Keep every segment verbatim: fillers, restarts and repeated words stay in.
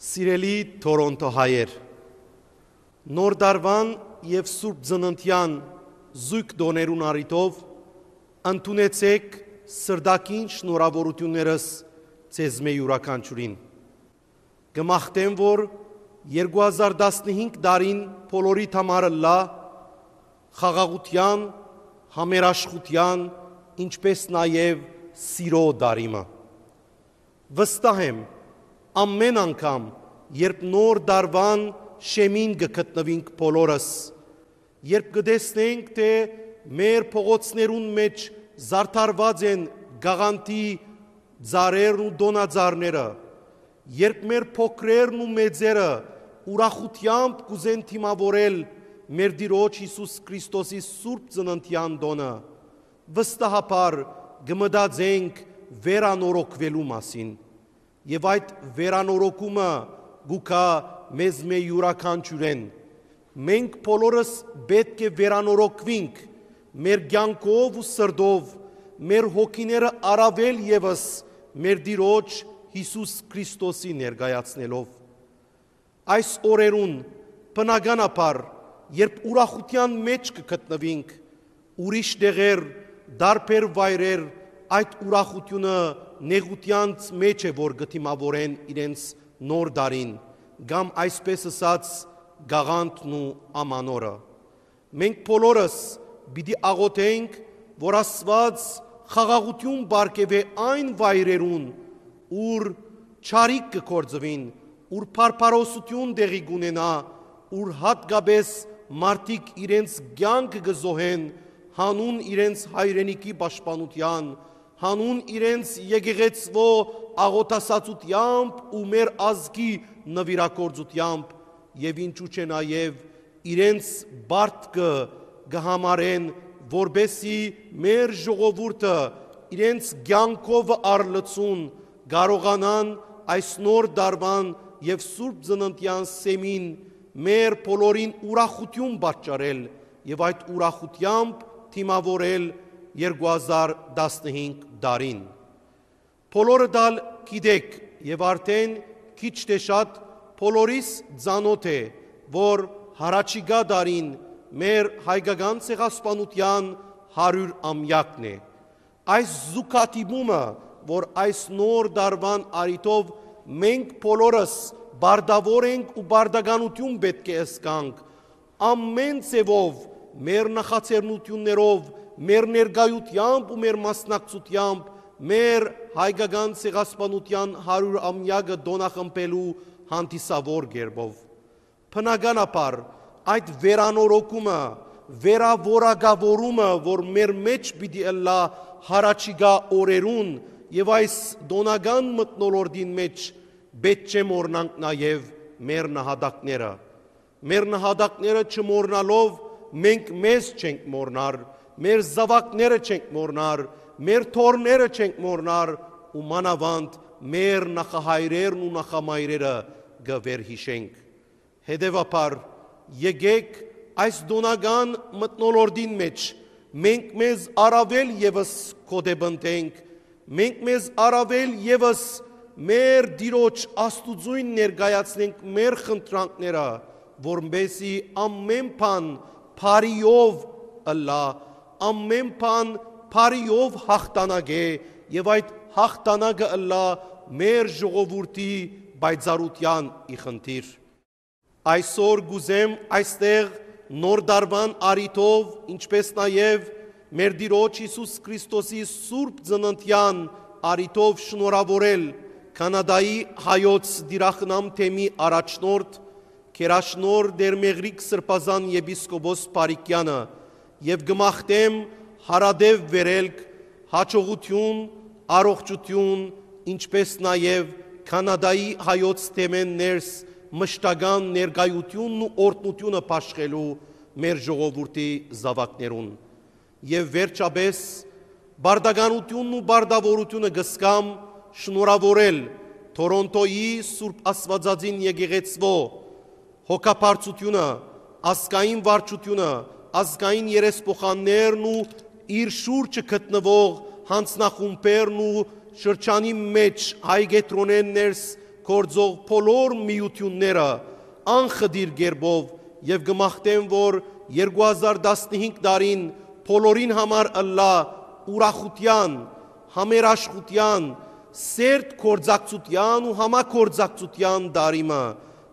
Սիրելի Թորոնթո հայեր, Նոր Տարուան եւ Սուրբ Ծննդեան զոյգ տօներուն առիթով ընդունեցէք սրտագին շնորհաւորութիւններս ձեզմէ իւրաքանչիւրին։ Կը մաղթեմ, որ երկու հազար տասնհինգ տարին բոլորիդ համար ըլլայ խաղաղութեան, համերաշխութեան, ինչպէս նաեւ սիրո տարի մը։ Վստահ եմ, ամէն անգամ, երբ Նոր Տարուան շեմին կը գտնուինք բոլորս, երբ կը տեսնենք, թէ մեր փողոցներուն մէջ զարդարուած են կաղանդի ծառերն ու տօնածառները, երբ մեր փոքրերն ու մեծերը ուրախութեամբ կ'ուզեն դիմաւորել մեր Տիրոջ Յիսուս Քրիստոսի Սուրբ Ծննդեան տօնը, վստահաբար կը մտածենք վերանորոգուելու մասին։ Եւ այդ վերանորոգումը կու գայ մեզմէ իւրաքանչիւրէն։ Մենք բոլորս պէտք է վերանորոգուինք մեր կեանքով ու սրտով, մեր հոգիները առաւել եւս մեր Տիրոջ Յիսուս Քրիստոսի ներկայացնելով։ Այս օրերուն, բնականաբար, երբ ուրախութեան մէջ կը գտնուինք, ուրիշ տեղեր, տարբեր վայրեր այդ ուրախութիւնը նեղութեանց մէջ է, որ կը դիմաւորեն իրենց Նոր Տարին, կամ այսպես ըսած, կաղանդն ու ամանորը։ Մենք բոլորս պիտի աղօթենք, որ Աստուած խաղաղութիւն պարգեւէ այն վայրերուն, ուր չարիք կը գործուին, ուր բարբարոսութիւն տեղի կ'ունենայ, ուր յատկապէս մարդիկ իրենց կեանքը կը զոհեն, յանուն իրենց հայրենիքի պաշտպանութեան, յանուն իրենց եկեղեցւոյ աղօթասացութեամբ ու մեր ազգի նուիրագործութեամբ, եւ ինչու՞ չէ, նաեւ իրենց պարտքը կը համարեն, որպէսզի մեր ժողովուրդը իրենց կեանքովը առ լծուն կարողանան այս Նոր Տարուան եւ Սուրբ Ծննդեան սեմին մեր բոլորին ուրախութիւն պատճառել եւ այդ ուրախութեամբ դիմաւորել երկու հազար տասնհինգ տարին։ Բոլորդ ալ գիտէք եւ արդէն քիչ թէ շատ բոլորիս ծանօթ է, որ յառաջիկայ տարին մեր հայկական ցեղասպանութեան հարիւր ամեակն է։ Այս զուգադիպումը, որ այս Նոր Տարուան առիթով մենք բոլորս պարտաւոր ենք ու պարտականութիւն պէտք է զգանք, ամէն ձեւով, մեր նախաձեռնութիւններով, մեր ներկայութեամբ ու մեր մասնակցութեամբ մեր հայկական ցեղասպանութեան հարիւր ամեակը տօնախմբելու հանդիսաւոր կերպով։ Բնականաբար, այդ վերանորոգումը, վերաորակաւորումը, որ մեր մէջ պիտի ըլլայ յառաջիկայ օրերուն եւ այս տօնական մթնոլորտին մէջ, պէտք չէ մոռնանք նաեւ մեր նահատակները։ Մեր նահատակները չմոռնալով, մենք մեզ չենք մոռնար, մեր զաւակները չենք մոռնար, մեր թոռները չենք մոռնար ու մանաւանդ մեր նախահայրերն ու նախամայրերը կը վերհիշենք։ Հետեւաբար, եկէք այս տօնական մթնոլորտին մէջ մենք մեզ առաւել եւս կոտեպնդենք, մենք մեզ առաւել եւս մեր Տիրոջ Աստուծոյն ներկայացնենք մեր խնդրանքները, որպէսզի ամէն բան բարիով ըլլայ, ամէն բան բարիով յաղթանակէ եւ այդ յաղթանակը ըլլայ մեր ժողովուրդի պայծառութեան ի խնդիր։ Այսօր կ'ուզեմ այստեղ Նոր Տարուան առիթով, ինչպէս նաեւ մեր Տիրոջ Յիսուս Քրիստոսի Սուրբ Ծննդեան առիթով շնորհաւորել Քանադայի հայոց դիրախնամ թեմի առաջնորդ, գերաշնորհ Տեր Մեղրիկ Սրբազան եպիսկոպոս Փարիքեանը եւ կը մաղթեմ յարատեւ վերելք, յաջողութիւն, առողջութիւն, ինչպէս նաեւ Քանադայի հայոց թեմէն ներս մշտական ներկայութիւնն ու օրհնութիւնը բաշխելու մեր ժողովուրդի զաւակներուն։ Եւ վերջապէս, պարտականութիւնն ու պարտաւորութիւնը կ'զգամ շնորհաւորել Թորոնթոյի Սուրբ Աստուածածին եկեղեցւոյ հոգաբարձութիւնը, ազգային վարչութիւնը, ազգային երեսփոխաններն ու իր շուրջը գտնուող յանձնախումբերն ու շրջանի մէջ հայ կեդրոնէն ներս գործող բոլոր միութիւնները անխտիր կերպով, եւ կը մաղթեմ, որ երկու հազար տասնհինգ տարին բոլորին համար ըլլայ ուրախութեան, համերաշխութեան, սերտ գործակցութեան ու համագործակցութեան տարի մը,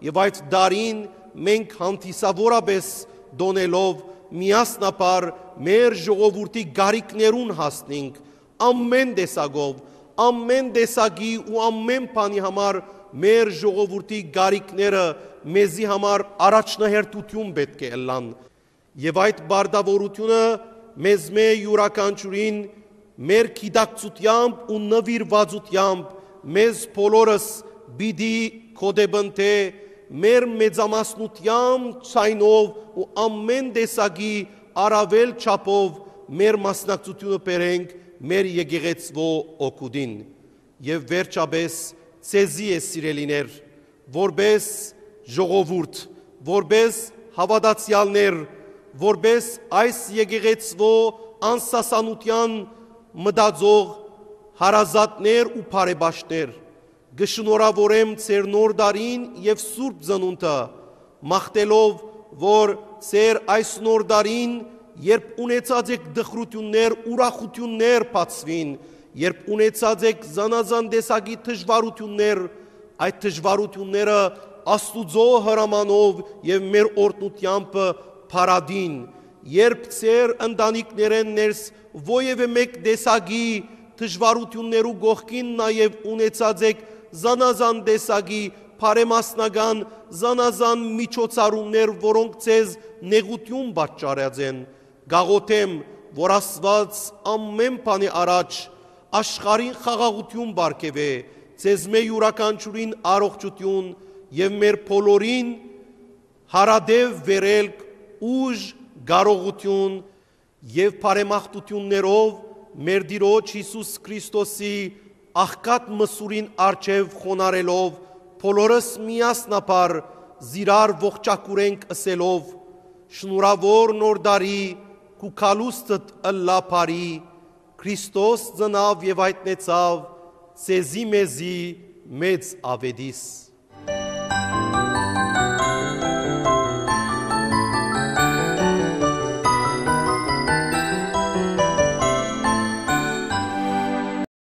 եւ այդ տարին մենք հանդիսաւորապէս տոնելով միասնաբար մեր ժողովուրդի կարիքներուն հասնենք, ամեն տեսակով, ամեն տեսակի ու ամեն բանի համար մեր ժողովուրդի կարիքները մեզի համար առաջնահերթութիւն պէտք է ըլլան։ Եւ այդ պարտաւորութիւնը մեզմէ յուրաքանչիւրին մեր գիտակցութեամբ ու նուիրուածութեամբ մեզ բոլորս պիտի գօտեպնդէ մեր մեծամասնութեան ցայնով ու ամեն տեսակի առաւել չափով մեր մասնակցութիւնը բերենք մեր եկեղեցւոյ օգուտին։ Եւ վերջապէս, ձեզի է, սիրելիներ, որպէս ժողովուրդ, որպէս հաւատացեալներ, որպէս այս եկեղեցւոյ անսասանութեան մտածող հարազատներ ու բարեպաշտներ, կը շնորհաւորեմ ձեր նոր տարին եւ Սուրբ Ծնունդը, մաղթելով, որ ձեր այս նոր տարին, երբ ունեցած էք տխրութիւններ, ուրախութիւններ բացուին, երբ ունեցած էք զանազան տեսակի դժուարութիւններ, այդ դժուարութիւնները Աստուծոյ հրամանով եւ մեր օրհնութեամբը փարատին, երբ ձեր ընտանիքներէն ներս որեւէ մէկ տեսակի դժուարութիւններու կողքին նաեւ ունեցած էք զանազան տեսակի բարեմասնական զանազան միջոցառումներ, որոնք ձեզ նեղութիւն պատճառած են, կ'աղօթեմ, որ Աստուած ամէն բանի առաջ աշխարհին խաղաղութիւն պարգեւէ, ձեզմէ յուրաքանչիւրին առողջութիւն եւ մեր բոլորին յարատեւ վերելք, ուժ, կարողութիւն եւ բարեմաղթութիւններով մեր Տիրոջ Յիսուս Քրիստոսի աղքատ մսուրին առջեւ խոնարհելով, բոլորս միասնաբար զիրար ողջակուրենք ըսելով. «Շնորհաւոր Նոր տարի, քու գալուստդ ըլլայ բարի, Քրիստոս ծնաւ եւ յայտնեցաւ, ձեզի մեզի մեծ աւետիս»։